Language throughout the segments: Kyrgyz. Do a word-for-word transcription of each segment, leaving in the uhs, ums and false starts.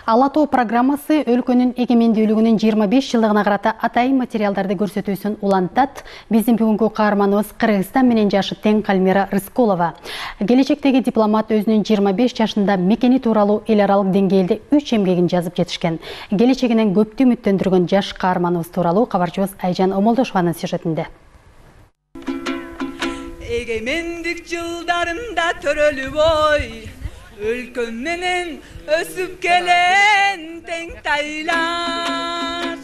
Ала тоо программасы өлкөнүн эгемендүүлүгүнүн жыйырма беш жылдыгына карата атайын материалдарды көрсөтүүсүн улантат. Биздин бүгүнкү каарманыбыз Кыргызстан менен жашы тең Калмира Рыскулова. Келечектеги дипломат өзүнүн жыйырма беш жашында мекени тууралуу эл аралык деңгээлде үч эмгегин жазып жетишкен. Келечегинен көптү үмүттөндүргөн жаш каарманыбыз тууралуу кабарчыбыз Айжан Омолдошованын сюжетинде. Эгемендик жылдарында төрөлүп ой, өлкөм менен өсүп келен тең тайлаш.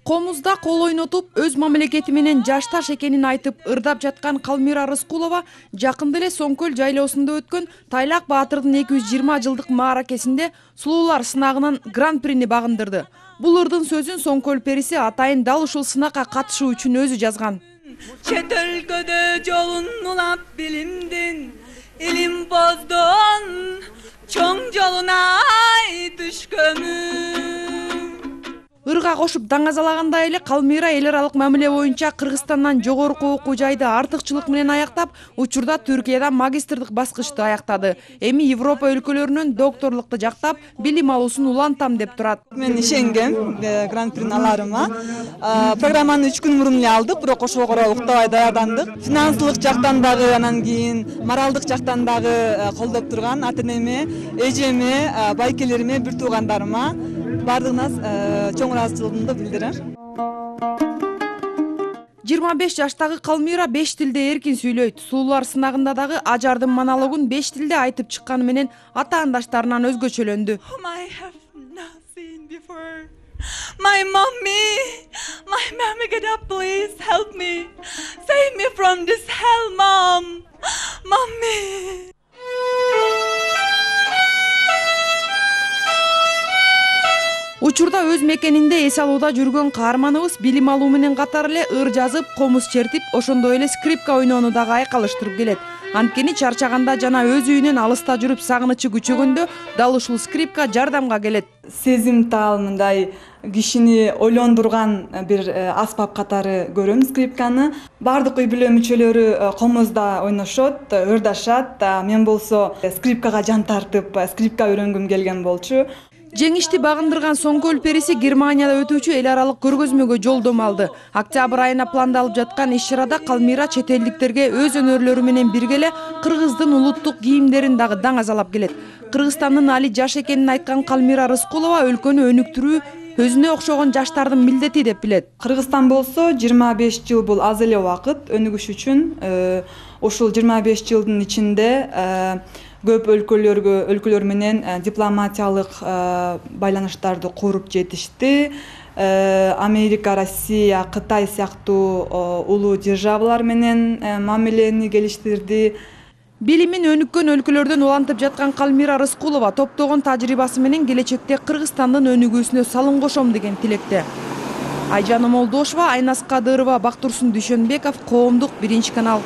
Комузда кол ойнотуп, өз мамлекети менен жашташ экенин айтып ырдап жаткан Калмира Рыскулова жакында эле Соңкөл жайлоосунда өткөн Тайлак Баатырдын эки жүз жыйырма жылдык мааракесинде сулуулар сынагынан гран-прини багындырды. Бул ырдын сөзүн Соңкөл периси атайын дал ушул сынакка катышуу үчүн өзү жазган. Чет өлкөдө жолун улап билимдин, илим боздон чоң жолуна түшкөнү. Ырга кошуп даңазалагандай эле Калмира эл аралык мамиле боюнча Кыргызстандан жогорку окуу жайды артыкчылык менен аяктап, учурда Түркияда магистрдык баскычты аяктады. Эми Европа өлкөлөрүнөн докторлукту жактап, билим алуусун улантам деп турат. Мен ишенгем гран-прини аларыма. Программаны үч күн мурун эле алдык, бирок ошого уктабай даярдандык. Финансылык жактан дагы, анан кийин моралдык жактан дагы колдоп турган ата-энеме, эжеме, байкелериме, бир туугандарыма бардыгына чоң ыраазычылыгымды билдирем. жыйырма беш жаштагы Калмира беш тилде эркин сүйлөйт. Сулуулар сынагында дагы ажардын монологун беш тилде айтып чыкканы менен ата-андаштарынан өзгөчөлөндү. My mommy, my mommy, get up, please help me, save me from this hell, mom, mommy. Учурда өз мекенинде эс алууда жүргөн каарманыбыз билим алуу менен катар эле ыр жазып, комуз чертип, ошондой эле скрипка ойноону дагы айкалыштырып келет. Анткени чарчаганда жана өз үйүнөн алыста жүрүп сагынычы күчөгөндө дал ушул скрипка жардамга келет. Сезимтал мындай кишини ойлондурган бир аспап катары көрөм скрипканы. Бардык үй бүлө мүчөлөрү комузда ойношот, ырдашат. Мен болсо скрипкага жан тартып, скрипка үйрөнгүм келген болчу. Жеңишти багындырган Соңкөл периси Германияда өтүүчү эл аралык көргөзмөгө жолдомо алды. Октябрь айына пландалып жаткан иш-чарада Калмира чет элдиктерге өз өнөрлөрү менен бирге эле Кыргыздын улуттук кийимдерин дагы даңазалап келет. Кыргызстандын али жаш экенин айткан Калмира Рыскулова өлкөнү өнүктүрүү өзүнө окшогон жаштардын милдети деп билет. Кыргызстан болсо жыйырма беш жыл бул аз эле убакыт өнүгүш үчүн. Ошол жыйырма беш жылдын ичинде көп өлкөлөргө өлкөлөр менен дипломатиялык байланыштарды куруп жетишти. Америка, Россия, Кытай сыяктуу улуу державалар менен мамилени келиштирди. Билимин өнүккөн өлкөлөрдөн улантып жаткан Калмира Рыскулова топтогон тажрыйбасы менен келечекте Кыргызстандын өнүгүүсүнө салым кошом деген тилекте. Айжан Омолдошова, Айнас Кадырова, Бактурсун Дүйшөнбеков, Коомдук биринчи канал.